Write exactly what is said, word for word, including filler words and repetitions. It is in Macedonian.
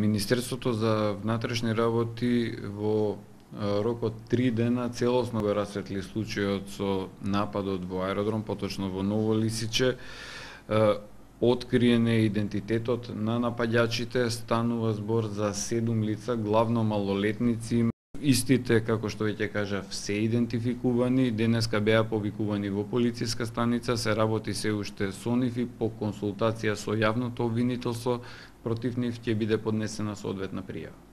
Министерството за внатрешни работи во рок од три дена целосно го расветли случајот со нападот во аеродром, поточно во Ново Лисиче. Откриен е идентитетот на напаѓачите, станува збор за седум лица, главно малолетници. Истите, како што веќе кажав, се идентификувани, денеска беа повикувани во полициска станица, се работи се уште со нив и по консултација со јавното обвинителство, против нив ќе биде поднесена соодветна пријава.